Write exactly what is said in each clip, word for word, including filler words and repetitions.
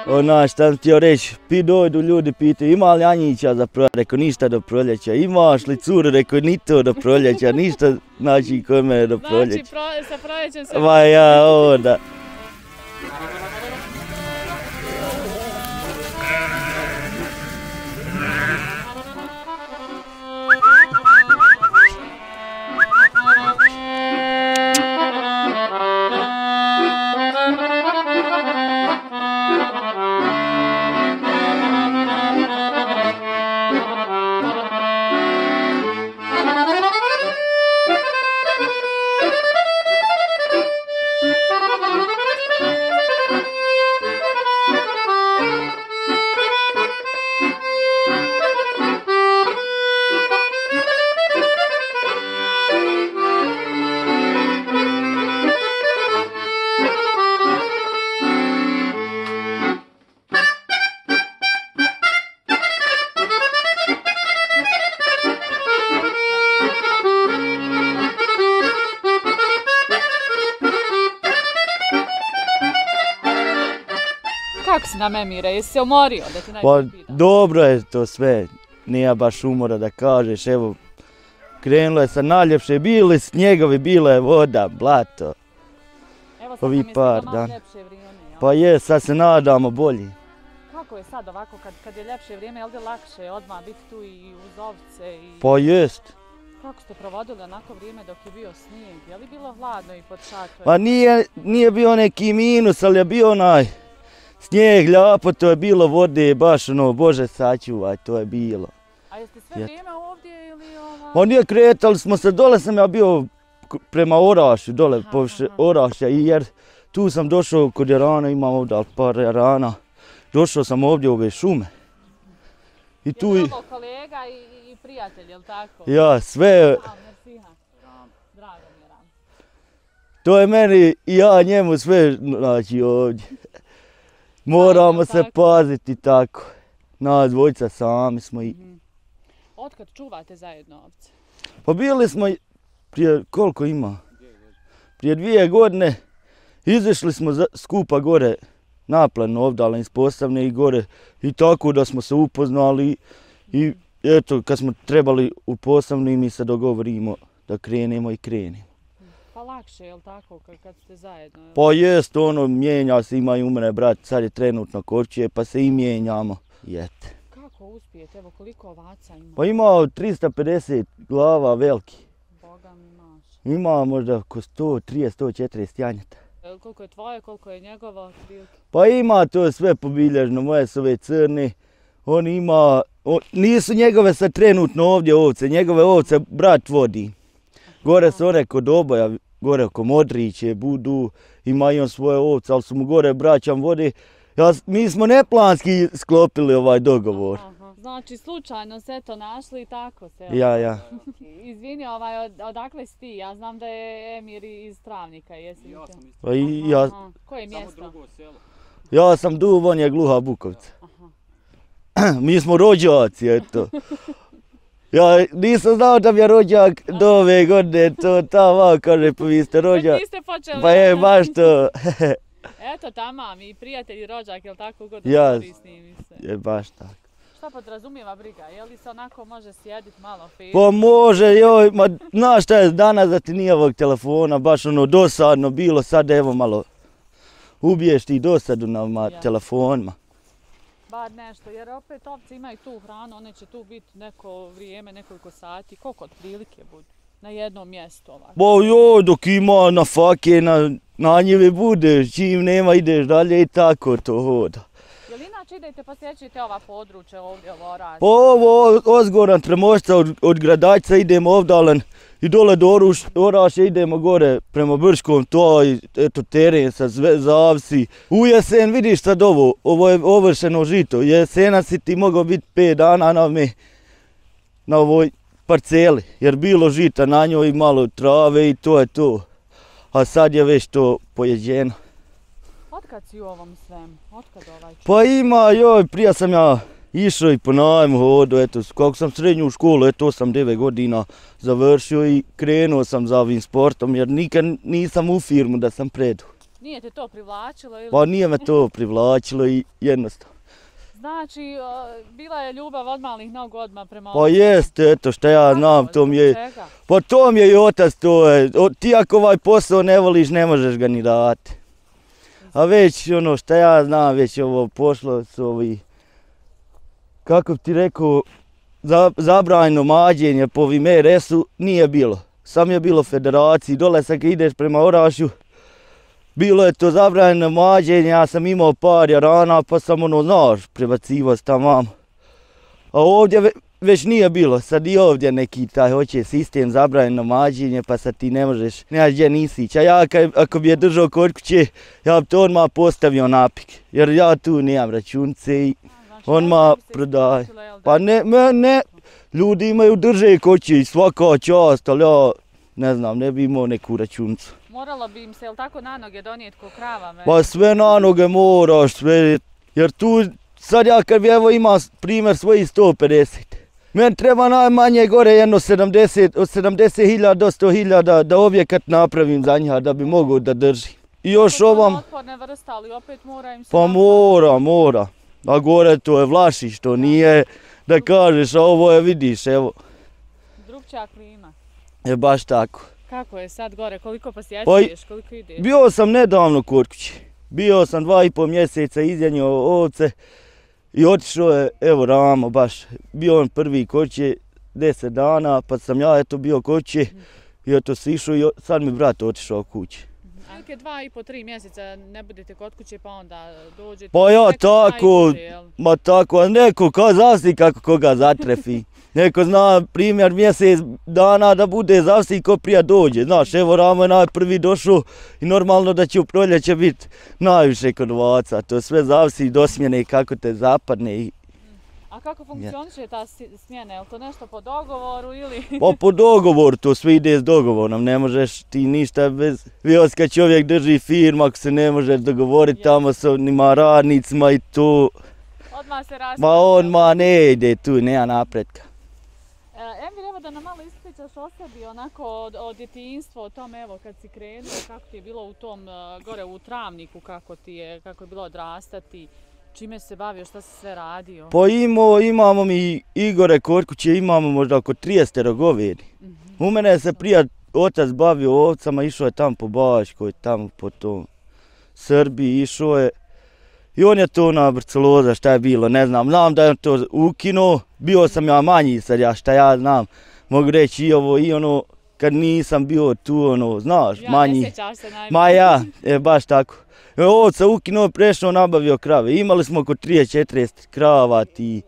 Ona, šta sam htio reći, pi dojdu ljudi pitaju ima li Anjića za proljeća, rekao ništa do proljeća, imaš li curu, rekao ni to do proljeća, ništa znači kod mene do proljeća. Znači sa proljećem se... Ma ja, onda. Kako si nam, Emire, jesi se umorio da ti Pa najbolje pitam? dobro je to sve, nije baš umora da kažeš, evo, krenulo je sa najljepše, bili snjegovi, bila je voda, blato. Evo sad ovi nam je par stiglo malo dana. ljepše vrijeme, jel? Pa je, sad se nadamo bolji. Kako je sad ovako, kad, kad je ljepše vrijeme, jel da je lakše odmah biti tu i uz ovce i... Pa jest. Kako ste provodili onako vrijeme dok je bio snijeg? Je li bilo hladno i pod šatorom? Pa nije, nije bio neki minus, ali je bio onaj snijeg, ljapo, to je bilo vode, baš ono, Bože sačuvaj, to je bilo. A jeste sve vrijeme ovdje ili ovaj... Pa nije, kretali smo se, dole sam ja bio prema Orašu, dole Aha, površe aha. Oraša, i jer tu sam došao kod jarana, imam ovdje par jarana, došao sam ovdje u ove šume. I tu Je i... li ovo kolega i, i prijatelj, jel tako? Ja, sve, A, mersiha. Drago mi je, Ram. to je meni i ja njemu sve, znači ovdje. Moramo se tako. paziti tako. Nas dvojica sami smo i... Otkad čuvate zajedno ovce? Pa bili smo i prije, koliko ima? Prije dvije godine izašli smo za, skupa gore naplan ovdje iz Postavne i gore i tako da smo se upoznali i eto kad smo trebali u Postavni mi se dogovorimo da krenemo i krenemo. Pa lakše, jel tako, kad, kad ste zajedno? Jel? Pa jest ono, mijenja se, ima i u mene brat, sad je trenutno kočije pa se i mijenjamo. Jete. Kako uspijete? Evo koliko ovaca ima? Pa ima tristo pedeset glava veliki. Boga mi maš. Ima možda oko sto trideset do sto četrdeset janjeta. E, Koliko je tvoje, koliko je njegovo otprilike? Pa ima to sve pobilježno, moje su ove crne. On ima, on, nisu njegove sad trenutno ovdje ovce, njegove ovce brat vodi. Gore su one kod oboja, gore oko Modriće budu, ima i on svoje ovce, ali su mu gore braćam vode. Ja, mi smo neplanski sklopili ovaj dogovor. Aha. Znači, slučajno se to našli i tako se. Ja, ja. Izvini, ovaj, od, odakle si ti? Ja znam da je Emir iz Travnika, jesi li Ja te? sam isto. Pa i ja, Aha. Koje Samo mjesto? drugo selo. ja sam Duv, on je Gluha Bukovca. Aha. Mi smo rođaci, eto. Ja nisam znao da mi je rođak do ove godine, to tamo kaže, pa vi ste Već rođak. niste počeli. Pa je, baš to. Eto, tamam, i prijatelj i rođak, jel tako god Ja. korisni mi se. Je baš tako. Šta podrazumijeva briga? Je li se onako može sjedit malo film? Pa može, joj, ma znaš šta je danas da ti nije ovog telefona, baš ono dosadno bilo, sad evo malo ubiješ ti dosadu na ma, Ja. telefonima. Bar nešto, jer opet ovce imaju tu hranu, one će tu biti neko vrijeme, nekoliko sati, koliko otprilike budu na jednom mjestu ovako. Bo joj, dok ima na fake, na, na njive budeš, čim nema ideš dalje i tako to hoda. Jel inače idete posjećujete ova područja ovdje, ovo Oraš? Pa ovo Ozgoran Tremošca od, od Gradačca idemo ovdalen i dole do Oruš, Oraše idemo gore prema Brškom, to i eto teren sa sve zavsi. U jesen vidiš sad ovo, ovo je ovršeno žito, jesena si ti mogao biti pet dana na, me, na ovoj parceli, jer bilo žita na njoj malo trave i to je to. A sad je već to pojeđeno. Otkad si u ovom svemu? Otkad ovaj čovjek? Pa ima, joj, prije sam ja išao i po najmu hodu, eto, kako sam srednju školu, eto, osam devet godina završio i krenuo sam za ovim sportom, jer nikad nisam u firmu da sam predu. Nije te to privlačilo ili? Pa nije me to privlačilo i jednostavno. Znači, bila je ljubav od malih nogu odmah prema Pa jest, eto šta ja znam, to mi je... Pa to mi je i otac, to je, ti ako ovaj posao ne voliš, ne možeš ga ni dati. A već ono šta ja znam, već ovo pošlo s ovi, kako bi ti rekao, zabranjeno mađenje po V M R S-u nije bilo. Sam je bilo federaciji, dole sad kad ideš prema Orašju, bilo je to zabranjeno mađenje, ja sam imao par jarana pa sam ono, znaš, prebacivao tamo. A ovdje već nije bilo, sad i ovdje neki taj hoće sistem zabranjeno mađenje pa sad ti ne možeš, nemaš gdje nisi ići. A ja kad, ako bi je držao kod kuće, ja bi to odmah postavio napik, jer ja tu nemam računce i odmah prodaj. Pa ne, ne, ne, ljudi imaju drže kuće i svaka čast, ali ja ne znam, ne bi imao neku računcu. Moralo bi im se, jel tako, na noge donijeti ko krava? Pa sve na noge moraš, sve, jer tu sad ja kad bi evo ima primjer svojih sto pedeset. Meni treba najmanje gore jedno sedamdeset, od sedamdeset hiljada do sto hiljada da objekat napravim za njih, da bi mogao da drži. I još ovam... Otporne vrste, ali opet mora im se... Pa mora, mora. A gore to je Vlašić, to nije da kažeš, a ovo je vidiš, evo. Drugčija klima. Je baš tako. Kako je sad gore, koliko posjećuješ, koliko ideš? Bio sam nedavno kod kuće. Bio sam dva i pol mjeseca izjanio ovce i otišao je, evo Ramo baš, bio on prvi kod kuće deset dana, pa sam ja eto bio kod kuće i eto si išao i sad mi brat otišao kuće. Neke dva i po, tri mjeseca ne budete kod kuće pa onda dođete... Pa ja tako, ma tako, a neko kao zavsi kako koga zatrefi. Neko zna primjer mjesec dana da bude zavsi ko prija dođe. Znaš, evo Ramo je najprvi došao i normalno da će u proljeće biti najviše kod ovaca. To sve zavsi do smjene kako te zapadne. I... A kako funkcioniše ta smjena? Je li to nešto po dogovoru ili... Pa po dogovoru, to sve ide s dogovorom. Ne možeš ti ništa bez... Vios kad čovjek drži firmu, ako se ne možeš dogovoriti tamo s onima radnicima i to... Odmah se raspravlja. Ma odmah ne ide tu, nema napretka. Emir, evo da nam malo ispričaš o sebi, onako od, od djetinjstva, o tom evo kad si krenuo, kako ti je bilo u tom uh, gore u Travniku, kako ti je, kako je bilo odrastati, čime se bavio, šta si sve radio? Pa imamo, imamo mi Igore kod kuće, imamo možda oko trideset govedi. Mm-hmm. U mene se prije otac bavio ovcama, išao je tamo po Baškoj, tamo po tom Srbiji, išao je. I on je to na Brceloza, šta je bilo, ne znam, znam da je to ukinuo, bio sam ja manji sad, ja šta ja znam, mogu reći i ovo i ono, kad nisam bio tu, ono, znaš, ja, manji. Ja, ne sjećaš se najbolje. Ma ja, je baš tako. E, ovca ukinuo, prešao, nabavio krave, imali smo oko trideset četrdeset krava, ti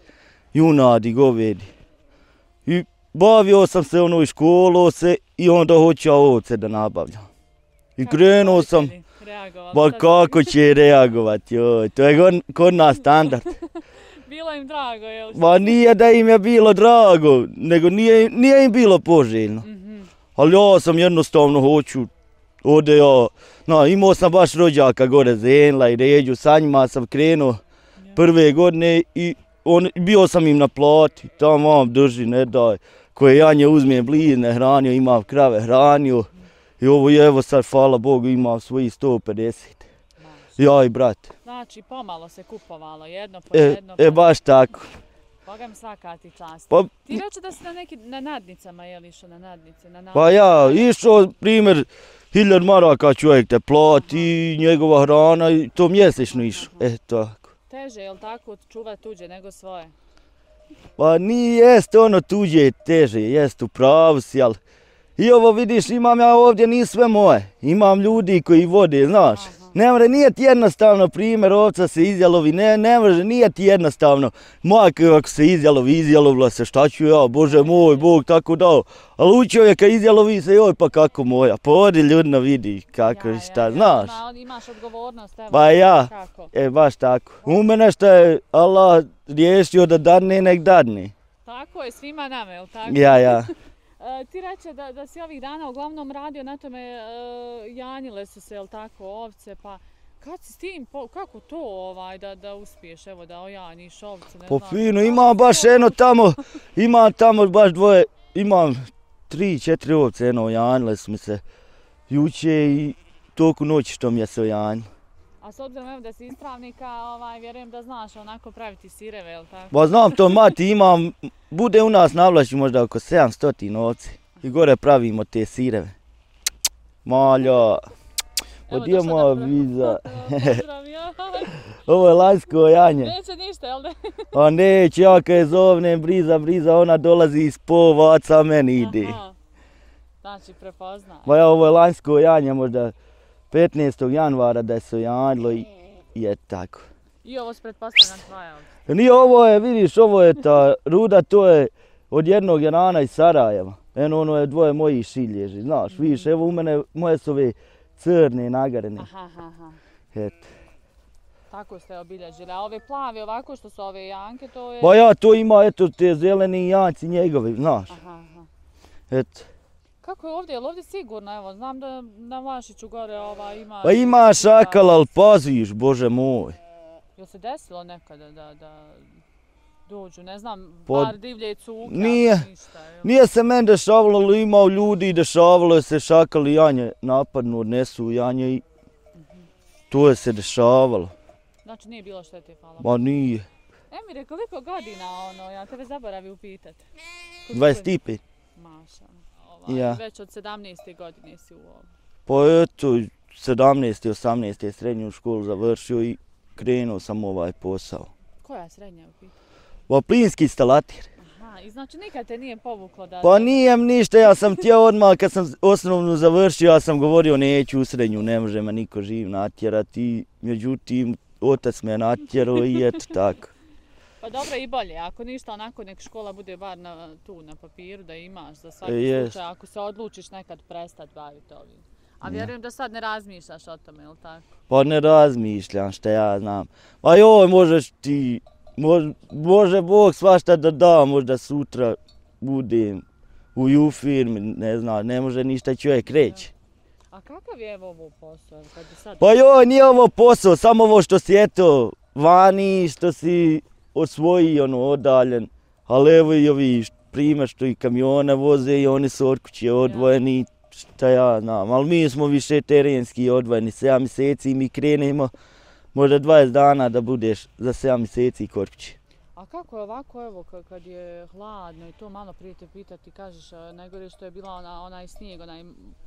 junadi, govedi. I bavio sam se, ono, i školo se i onda hoću ovce da nabavljam. I kako krenuo sam... Pa kako će reagovati, joj, to je kod, kod nas standard. Bilo im drago, jel? Ma nije da im je bilo drago, nego nije, nije im bilo poželjno. Mm-hmm. Ali ja sam jednostavno hoću, ode ja, no, imao sam baš rođaka gore Zenla i Ređu, sa njima sam krenuo ja. Prve godine i on, bio sam im na plati, tamo vam drži, ne daj, koje Janje uzme blizne, hranio, ima krave, hranio. I ovo je, evo sad, hvala Bogu, imam svojih sto pedeset. Znači. Ja i brat. Znači, pomalo se kupovalo, jedno po e, jedno. Po... E, baš tako. Boga mi svaka ti čast. Pa, ti reći da si na, neki, na nadnicama, je li išao na nadnice? Na pa ja, išao, primjer, hiljad maraka čovjek te plati, njegova hrana i to mjesečno išao. E, tako. Teže, je li tako, čuvati tuđe nego svoje? Pa nije, jest ono tuđe teže, jest u pravu si, ali... I ovo vidiš, imam ja ovdje, nije sve moje. Imam ljudi koji vode, znaš. Aha. Ne može, nije ti jednostavno, primjer, ovca se izjalovi, ne, ne može, nije ti jednostavno. Moja kako se izjalovi, izjalovila se, šta ću ja, Bože moj, Bog tako dao. Ali u čovjeka izjalovi se, joj, pa kako moja, pa odi ljudno vidi kako i ja, šta, ja, znaš. Ja, imaš odgovornost, evo. Pa ja, kako? E, baš tako. U mene što je Allah riješio da dadne, nek dadne. Tako je, svima nama, jel tako? Ja, ja. E, ti reče da, da si ovih dana uglavnom radio na tome, e, janjile su se, jel tako, ovce, pa kad si s tim, po, kako to ovaj, da, da uspiješ, evo da ojanjiš ovce, ne po znam. Po fino, imam baš eno tamo, imam tamo baš dvoje, imam tri, četiri ovce, eno, ojanjile su mi se juče i toku noći što mi je se ojanjilo. A s obzirom evo da si iz Travnika, ovaj, vjerujem da znaš onako praviti sireve, jel tako? Ba znam to, mati, imam, bude u nas na Vlašću možda oko sedamsto ovci. I gore pravimo te sireve. Malja, odio moja viza. Ovo je lanjsko janje. Neće ništa, jel da? A neće, ja kad je zovnem briza, briza, ona dolazi iz povaca, meni ide. Aha. Znači, prepoznaj. Ba ja, ovo je lanjsko janje, možda petnaestog januara da je se ojanjilo i je tako. I ovo se pretpostavljam tvoja ovdje? Nije, ovo je, vidiš, ovo je ta ruda, to je od jednog jarana iz Sarajeva. Eno, ono je dvoje mojih šilježi, znaš, mm-hmm. vidiš, evo u mene, moje su ove crne, nagarene. Aha, aha. Eto. Tako ste obilježili, a ove plave ovako što su ove janke, to je... Ba ja, to ima, eto, te zeleni janci njegovi, znaš. Aha, aha. Eto. Kako je ovdje, je li ovdje sigurno, evo, znam da na Vlašiću gore ova ima... Pa ima šakala, ali paziš, bože moj. Jel se desilo nekada da, da dođu, ne znam, Pa, bar divlje cuka, nije, ništa? Jel? Nije se meni dešavalo, ali imao ljudi i dešavalo je se šakali janje napadnu, odnesu janje i to je se dešavalo. Znači nije bilo štete, hvala. Ma nije. Emire, koliko godina, ono, ja tebe zaboravim upitati? dvadeset pet. Maša. Ovaj, Ja. Već od sedamnaeste godine si u ovom. Pa eto, sedamnaeste osamnaeste srednju školu završio i krenuo sam ovaj posao. Koja je srednja u pitanju? Pa plinski instalater. Aha, i znači nikad te nije povuklo da... Pa nijem ništa, ja sam htio odmah kad sam osnovnu završio, ja sam govorio neću u srednju, ne može me niko živ natjerati, međutim otac me natjerao i eto tako. Pa dobro i bolje, ako ništa onako nek škola bude bar na, tu na papiru da imaš za svaki E, slučaj, ako se odlučiš nekad prestati baviti ovim. A Ja. vjerujem da sad ne razmišljaš o tome, jel tako? Pa ne razmišljam šta ja znam. Pa joj, možeš ti, može, može Bog svašta da da, možda sutra budem u u firmi, ne znam, ne može ništa čovjek reći. A kakav je evo ovo posao? Kad bi sad... Pa joj, nije ovo posao, samo ovo što si eto vani, što si osvoji ono odaljen, ali evo i ovi primjer što i kamione voze i oni su od kuće odvojeni, šta ja znam, ali mi smo više terenski odvojeni, sedam mjeseci mi krenemo, možda dvadeset dana da budeš za sedam mjeseci kod kuće. A kako je ovako, evo, kad je hladno i to malo prije te pitati, kažeš najgore što je bila ona, onaj snijeg, onaj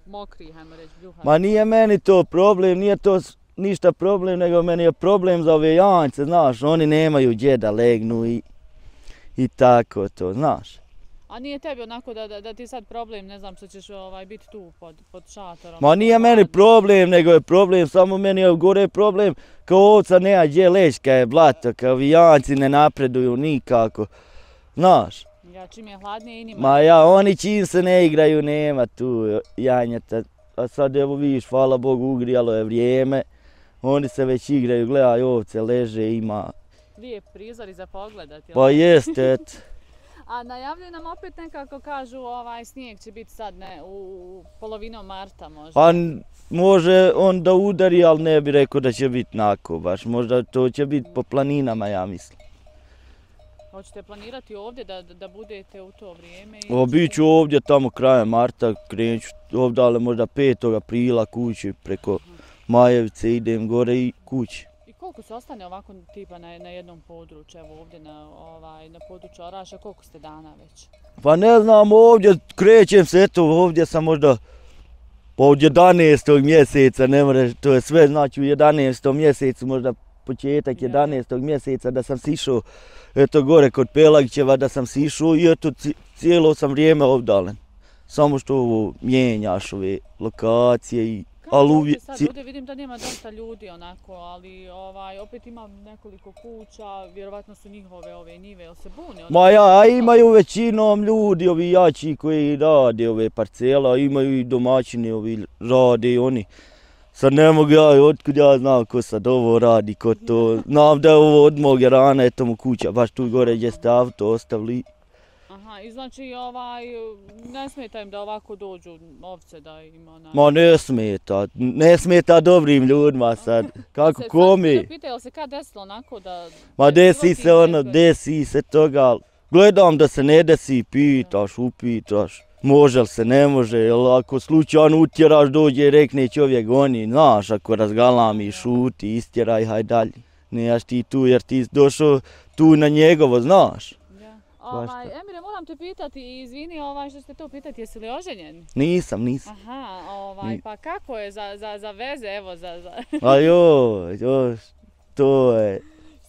mokri, hajmo reći, bljuhan. Ma nije meni to problem, nije to ništa problem, nego meni je problem za ove jance, znaš, oni nemaju gdje da legnu i, i tako to, znaš. A nije tebi onako da, da, da ti sad problem, ne znam što ćeš ovaj, biti tu pod, pod šatorom? Ma nije meni problem, nego je problem, samo meni je gore problem, kao ovca nema gdje leći kad je blato, kao vijanci ne napreduju nikako, znaš. Ja, čim je hladnije i njima... Ma ja, oni čim se ne igraju, nema tu janjeta, a sad evo vidiš, hvala Bogu, ugrijalo je vrijeme, oni se već igraju, gledaj ovce, leže, ima... Lijep prizor i za pogledat, jel? Pa jest, eto. A najavljuju nam opet nekako kažu ovaj snijeg će biti sad ne, u polovinom marta možda. Pa može on da udari, ali ne bi rekao da će biti nako baš. Možda to će biti po planinama, ja mislim. Hoćete planirati ovdje da, da budete u to vrijeme? O, bit ću ovdje tamo krajem marta, krenut ću ovdje, ali možda petog aprila kući preko Majevice, idem gore i kući. I koliko se ostane ovako tipa na, na jednom području, evo ovdje na, ovaj, na području Oraša, koliko ste dana već? Pa ne znam, ovdje krećem se, eto, ovdje sam možda pa od jedanaestog mjeseca, ne mreš, to je sve znači u jedanaestom mjesecu, možda početak jedanaestog mjeseca da sam sišao, eto gore kod Pelagićeva da sam sišao i eto cijelo sam vrijeme ovdalen. Samo što ovo mijenjaš ove lokacije i... Kako ovdje sad ovdje vidim da nema dosta ljudi onako, ali ovaj, opet ima nekoliko kuća, vjerovatno su njihove ove njive, jel se bune? Ma ja, a imaju većinom ljudi, ovi jači koji rade ove parcela, imaju i domaćini, ovi rade i oni. Sad ne mogu ja, otkud ja znam ko sad ovo radi, ko to, znam da je ovo od mog rana, eto mu kuća, baš tu gore gdje ste auto ostavili. Aha, i znači ovaj, ne smeta im da ovako dođu ovce da ima onaj... Ma ne smeta, ne smeta dobrim ljudima sad, kako komi. Se pitaju se kad desilo onako da... Ma desi se ono, desi se toga, gledam da se ne desi, pitaš, upitaš. može li se, ne može, jel ako slučajno utjeraš, dođe i rekne čovjek goni, znaš, ako razgalami, šuti, istjeraj, haj dalje. Nejaš ti tu jer ti došao tu na njegovo, znaš. Ovaj, Emire, moram te pitati, izvini ovaj, što ste to pitati, jesi li oženjen? Nisam, nisam. Aha, ovaj, pa kako je za, za, za veze, evo za... za... A joj, joj, to je...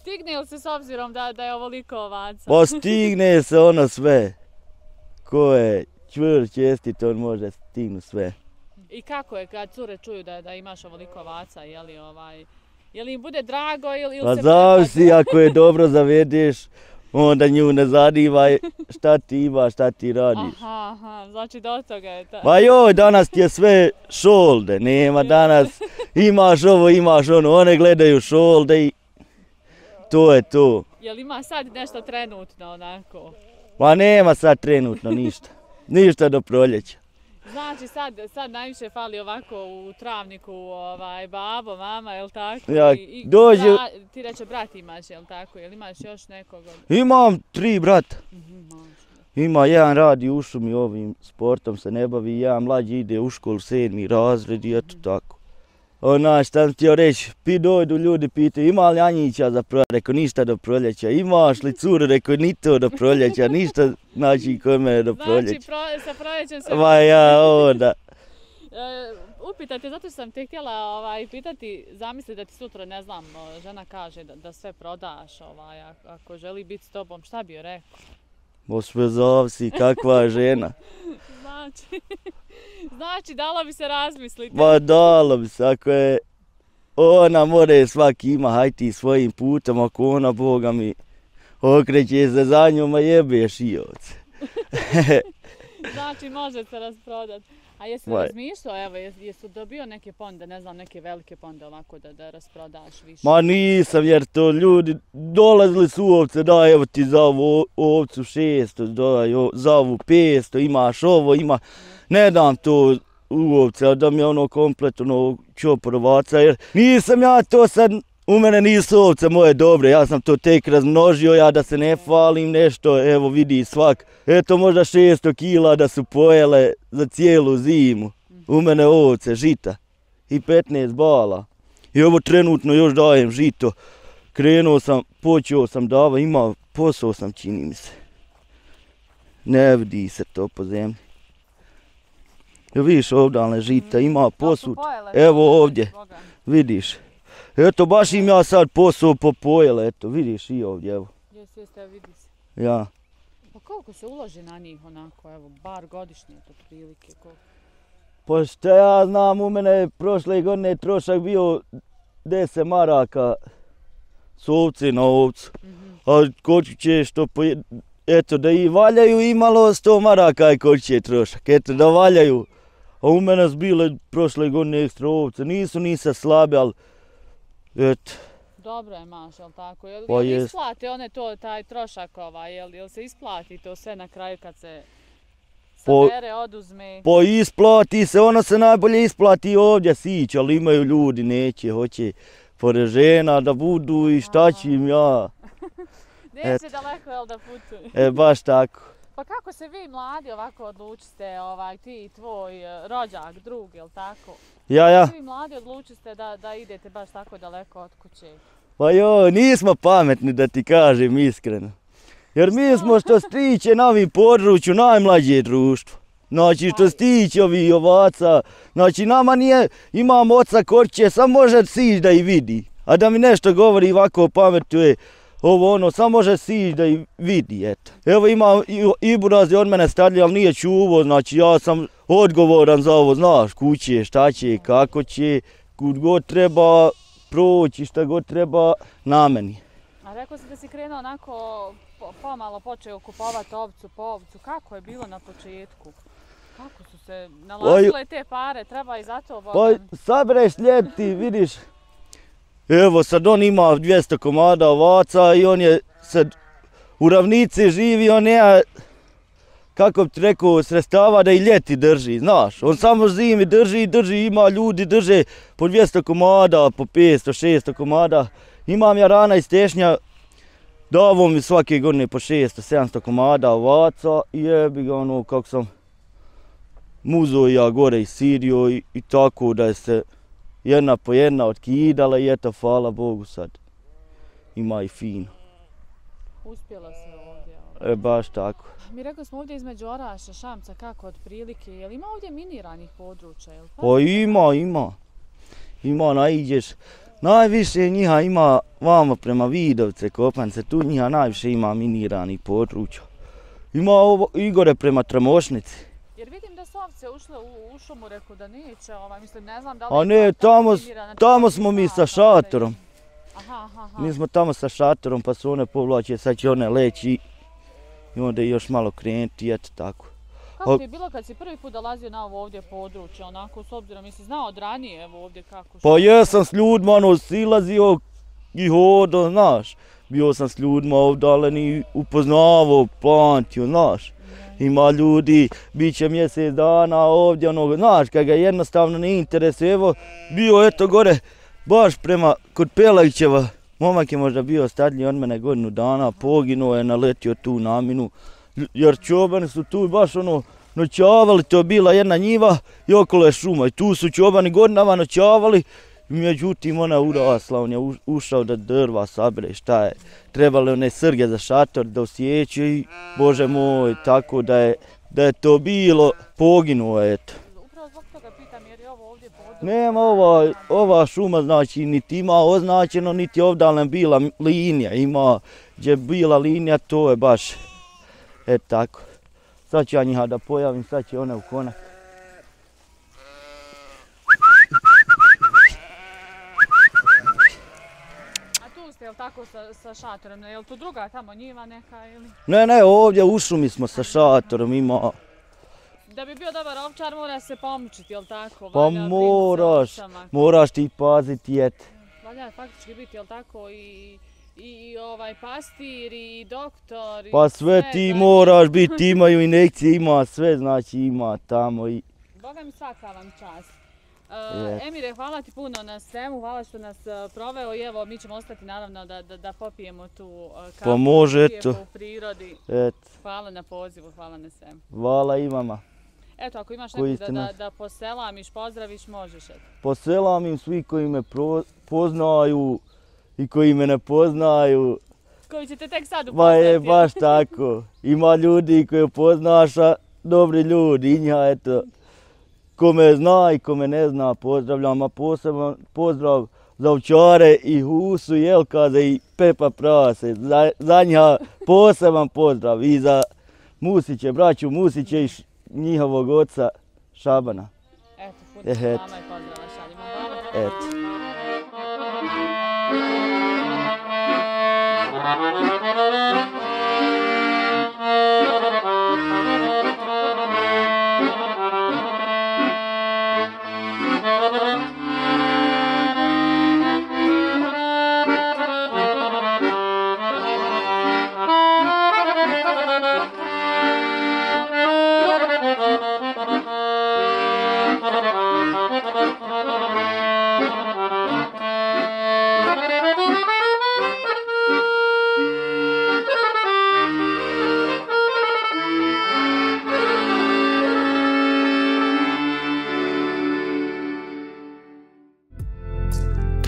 Stigne li se s obzirom da, da je ovoliko ovaca? Pa stigne se ono sve. Ko je čvrst, čestit, on može stignu sve. I kako je kad cure čuju da, da imaš ovoliko ovaca, je li ovaj... Je li im bude drago ili, ili pa se... Pa zavisi, ako je dobro zavedeš, onda nju ne zadivaj šta ti ima, šta ti radiš. Aha, aha, znači do toga je ta... Ma joj, danas ti je sve šolde, nema danas, imaš ovo, imaš ono, one gledaju šolde i to je to. Jel ima sad nešto trenutno onako? Ma nema sad trenutno ništa, ništa do proljeća. Znači sad, sad najviše fali ovako u travniku ovaj, babo, mama, jel tako? Ja, I, i dođe... bra, ti reče brat imaš, jel tako? Jel imaš još nekog? Imam tri brata. Mm-hmm, Ima jedan radi u šumi, ovim sportom se ne bavi, jedan mlađi ide u školu, sedmi razred i eto tako. Onaj, šta sam htio reći, pi dojdu ljudi pitaju ima li Anjića za proljeća, rekao ništa do proljeća, imaš li curu, rekao ni to do proljeća, ništa znači kod mene do proljeća. Znači pro, sa proljećem se... Ma ja, onda. E, upitajte, zato što sam te htjela ovaj, pitati, zamisli da ti sutra, ne znam, žena kaže da, da sve prodaš, ovaj, ako želi biti s tobom, šta bi joj rekao? Bo sve zavisi, kakva je žena. Znači, znači, dalo bi se razmisliti. Ma dalo bi se, ako je ona more svaki ima, haj ti svojim putem, ako ona, Boga mi, okreće se za njom, a jebeš i ovce. Znači, može se rasprodati. A jesi li razmišljao, evo, jesi dobio neke ponde, ne znam, neke velike ponde ovako da, da rasprodaš više? Ma nisam, jer to ljudi dolazili su ovce, da evo ti za ovu ovcu šesto, da za ovu petsto, imaš ovo, ima, ne dam to u ovce, a da mi je ono kompletno čoporovaca, jer nisam ja to sad, u mene nisu ovce moje dobre, ja sam to tek razmnožio, ja da se ne falim nešto, evo vidi svak, eto možda šesto kila da su pojele za cijelu zimu, u mene ovce, žita i petnaest bala. I ovo trenutno još dajem žito, krenuo sam, počeo sam dava, ima posao sam čini mi se. Ne vidi se to po zemlji. Vidiš ovdje žita, ima posud, evo ovdje, vidiš. Eto, baš im ja sad posao popojele, eto, vidiš i ovdje, evo. Jesi, jeste, vidi se. Ja. Pa koliko se uloži na njih onako, evo, bar godišnje, to prilike, koliko? Pa šta ja znam, u mene prošle godine trošak bio deset maraka s ovce na ovcu. Mm-hmm. A koliko će što po... Eto, da i valjaju imalo sto maraka i koliko će trošak, eto, da valjaju. A u mene su bile prošle godine ekstra ovce, nisu nisa slabe, ali... Eto. Dobro je, maš, jel tako? Jel, pa jel isplate one to, taj trošak ovaj, jel, jel se isplati to sve na kraju kad se sabere, po, oduzme? Pa isplati se, ono se najbolje isplati ovdje sić, ali imaju ljudi, neće, hoće pored žena da budu i šta ću im ja. Neće daleko, jel da putuju? E, baš tako. Pa kako se vi mladi ovako odlučiste, ovaj, ti i tvoj rođak, drug, jel tako? Ja, ja. Vi mladi odlučiste da, da idete baš tako daleko od kuće? Pa joj, nismo pametni da ti kažem iskreno. Jer mi smo što se tiče na ovim području najmlađe društvo. Znači što se tiče ovih ovaca, znači nama nije, imam oca korće, sam može sić da i vidi. A da mi nešto govori ovako pametuje, ovo ono, sam može sić da i vidi, eto. Evo ima i buraz je od mene stariji, ali nije čuvo, znači ja sam odgovoran za ovo, znaš, kuće, šta će, kako će, kud god treba proći, šta god treba, na meni. A rekao si da si krenuo onako, pomalo počeo kupovati ovcu po ovcu, kako je bilo na početku? Kako su se nalazile te pare, treba i za to Bogan? Pa sabereš ljeti, vidiš. Evo sad on ima dvjesto komada ovaca i on je sad u ravnici živi, on nema, kako bi ti rekao, sredstava da i ljeti drži, znaš. On samo zimi drži, drži, ima ljudi drže po dvjesto komada, po petsto, šesto komada. Imam ja rana iz tešnja, davo mi svake godine po šesto, sedamsto komada ovaca i jebi ga ono kako sam muzo ja gore i sirio i, i tako da je se jedna po jedna otkidala i eto, hvala Bogu sad. Ima i fino. Uspjela se ovdje. E, baš tako. Mi rekli smo ovdje između Orašća, Šamca, kako otprilike, je li ima ovdje miniranih područja? Jel? Pa ima, ima. Ima, naiđeš. Najviše njiha ima vamo prema Vidovce, Kopance, tu njiha najviše ima miniranih područja. Ima ovo Igore prema Tramošnici. Jer vidim da su ovce ušle u, u šumu, reku da neće, ovaj, mislim, ne znam da li... A ne, tamo, tamo smo mi sa šatorom. Aha, aha, aha. Mi smo tamo sa šatorom, pa su one povlače, sad će one leći i onda još malo krenuti, eto tako. Kako ti je bilo kad si prvi put dolazio na ovo ovdje područje, onako, s obzirom, jesi znao od ranije, evo ovdje kako? Pa jesam s ljudima, ono, silazio i hodo, znaš. Bio sam s ljudima ovdalen i upoznavao, pamtio, znaš. Ima ljudi, bit će mjesec dana ovdje, ono, znaš, kad ga jednostavno ne interesuje, evo, bio eto gore, baš prema, kod Pelagićeva, momak je možda bio stariji od mene godinu dana, poginuo je, naletio tu na minu, jer čobani su tu baš ono, noćavali, to je bila jedna njiva i okolo je šuma i tu su čobani godinama noćavali, međutim ona urasla, on je ušao da drva sabere, šta je, trebali one srge za šator da osjećaju i bože moj, tako da je, da je to bilo, poginuo je, eto. Upravo zbog toga pitam jer je ovo ovdje područje. Nema ova, ova šuma, znači, niti ima označeno, niti ovdje bila linija, ima gdje je bila linija, to je baš, eto tako. Sad ću ja njiha da pojavim, sad će one u konak. Jel tako sa, sa šatorom, je li tu druga tamo njiva neka ili? Ne, ne, ovdje u šumi smo sa šatorom, ima... Da bi bio dobar ovčar mora se pomučiti, jel tako? Pa moraš, moraš ti paziti, et. Valja faktički biti, jel tako, i, i, i ovaj pastir, i doktor, pa i sve, sve ti znači... moraš biti, imaju injekcije, ima sve, znači ima tamo i... Boga mi svaka vam čast. Uh, Emire, hvala ti puno na svemu, hvala što nas uh, proveo i evo mi ćemo ostati naravno da, da, da popijemo tu uh, kafu pa može, eto. U prirodi. Et. Hvala na pozivu, hvala na svemu. Hvala i vama. Eto, ako imaš nekog da, da, da poselamiš, pozdraviš, možeš. Eto. Poselamim svi koji me pro, poznaju i koji me ne poznaju. Koji ćete tek sad upoznati. Ba je, baš tako. Ima ljudi koji poznaš, a dobri ljudi, i nja, eto. Ko me zna i ko me ne zna, pozdravljam, a poseban pozdrav za ovčare i Husu, Jelkaze i Pepa Prase. Za, za njiha poseban pozdrav i za Musiće, braću Musiće i š, njihovog oca Šabana. Eto, puno salama i pozdrava šaljimo. Hvala. Eto.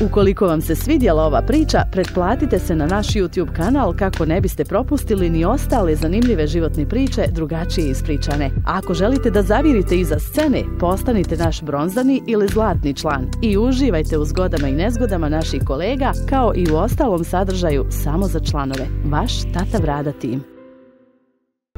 Ukoliko vam se svidjela ova priča, pretplatite se na naš YouTube kanal kako ne biste propustili ni ostale zanimljive životne priče drugačije ispričane. A ako želite da zavirite iza scene, postanite naš bronzani ili zlatni član i uživajte u zgodama i nezgodama naših kolega kao i u ostalom sadržaju samo za članove. Vaš Tata Brada tim.